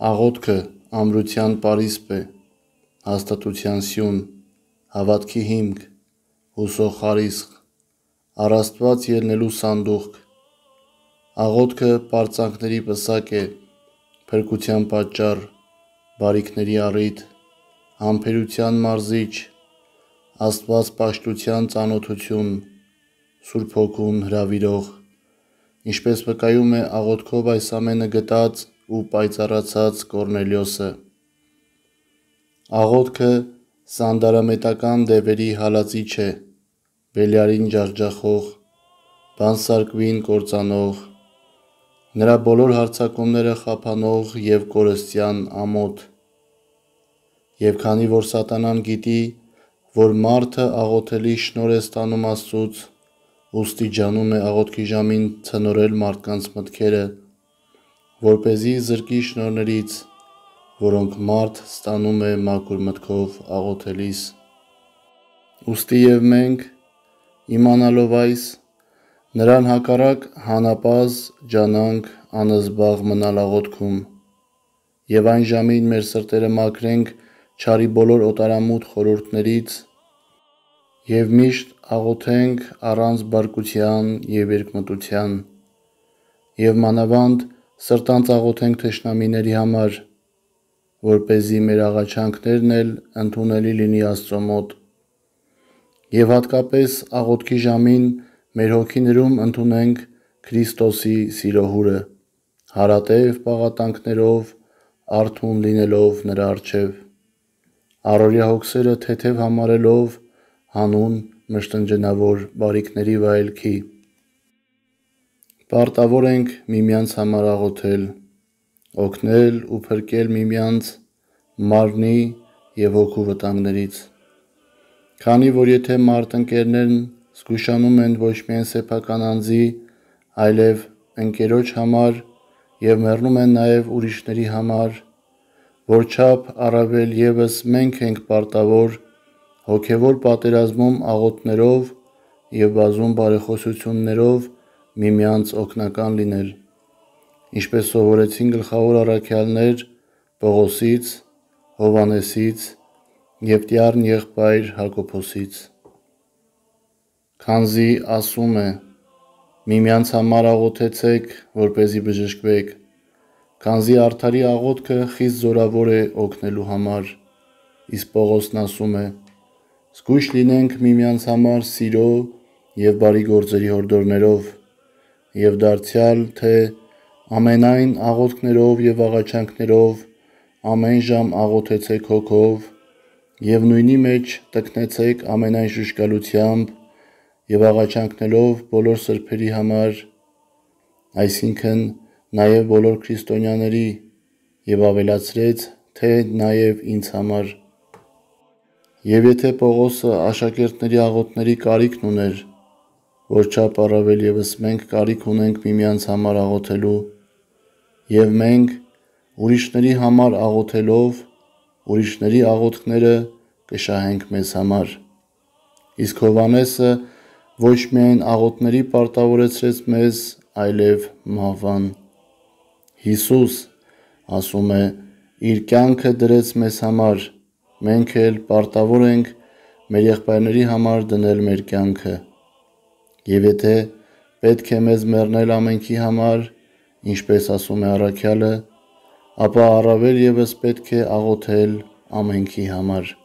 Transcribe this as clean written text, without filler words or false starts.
Աղոթքը ամրության պարիսպ է, հաստատության սյուն, հավատքի հիմք, հուսող խարիսխ, առ Աստված ելնելու սանդուղք։ Աղոթքը պարծանքների պսակ է, փրկության պատճառ, բարիքների առիթ, համբերության մարզիչ, Աստված պաշտության ծանոթություն, Սուրբ Հոգուն հրավիրող, ինչպես վկայում է աղոթքով այս ամենը գտած ու պայծառացած Կոռնելիոսը։ Աղոթքը սանդարամետական դևերի հալածիչ է, Բելիարին ջախջախող, բանսարկվին կործանող, նրա բոլոր հարձակումները խափանող և կորստյան ամոթ։ Եվ քանի որ սատանան գիտի, որ մարդը աղոթելի շնորհ է ստանում Աստծուց, ուստի ջանում է աղոթքի ժամին ցնորել մարդկանց մտքերը, որպեսզի զրկի շնորհներից, որոնք մարդ ստանում է մաքուր մտքով աղոթելիս։ Ուստի և մենք, իմանալով այս, նրան հակառակ հանապազը ջանանք անզբաղ մնալ աղոթքում, և այն ժամին մեր սրտերը մաքրենք չարի բոլոր օտարամութ խորհուրդներից և միշտ աղոթենք առանց բարկության և երկմտության, և մանավանդ սրտանց աղոթենք թշնամիների համար, որպեսզի մեր աղաչանքներն էլ ընդունելի լինի Աստծո մոտ, և հատկապես աղոթքի ժամին մեր հոգիներում ընդունենք Քրիստոսի սիրո հուրը, հարատև պաղատանքներով արթուն լինելով նրա առջև, առօրյա հոգսերը թեթև համարելով հանուն մշտնջենավոր բարիքների վայելքի։ Պարտավոր ենք միմյանց համար աղոթել, օգնել ու փրկել միմյանց մարմնի և հոգու վտանգներից, քանի որ եթե մարդ-ընկերներն զգուշանում են ոչ միայն սեփական անձի, այլև ընկերոջ համար և մեռնում են նաև ուրիշների համար, որչափ առավել ևս մենք ենք պարտավոր հոգևոր պատերազմում աղոթքներով և բազում բարեխոսություններով միմյանց օգնական լինել, ինչպես սովորեցին գլխավոր առաքյալներ Պողոսից, Հովհաննեսից և տյառն եղբայր Հակոբոսից։ Քանզի ասում է. «Միմյանց համար աղոթեցեք, որպեսզի բժշկվեք», քանզի արդարի աղոթքը խիստ զորավոր է օգնելու համար, իսկ Պողոսն ասում է. «Զգույշ լինենք միմյանց համար սիրո և բարի գործերի հորդորներով, և դարձյալ, թե ամենայն աղոթքներով և աղաչանքներով ամեն ժամ աղոթեցեք հոգով, և նույնի մեջ տնկնեցեք ամենայն ժուժգալությամբ և աղաչանքներով բոլոր սրբերի համար, այսինքն նաև բոլոր քրիստոնյաների, և ավելացրեց, թե նաև ինձ համար»։ Եվ եթե Պողոսը աշակերտների աղոթքների կարիքն ուներ, որչափ առավել ևս մենք կարիք ունենք միմյանց համար աղոթելու, և մենք ուրիշների համար աղոթելով ուրիշների աղոթքները կշահենք մեզ համար, իսկ Հովհաննեսը ոչ միայն աղոթների պարտավորեցրեց մեզ, այլև մահվան։ Հիսուս, ասում է, իր կյանքը դրեց մեզ համար, մենք էլ պարտավոր ենք մեր եղբայրների համար դնել մեր կյանքը։ Եվ եթե պետք է մեզ մեռնել ամենքի համար, ինչպես ասում է առաքյալը, ապա առավել ևս պետք է աղոթել ամենքի համար։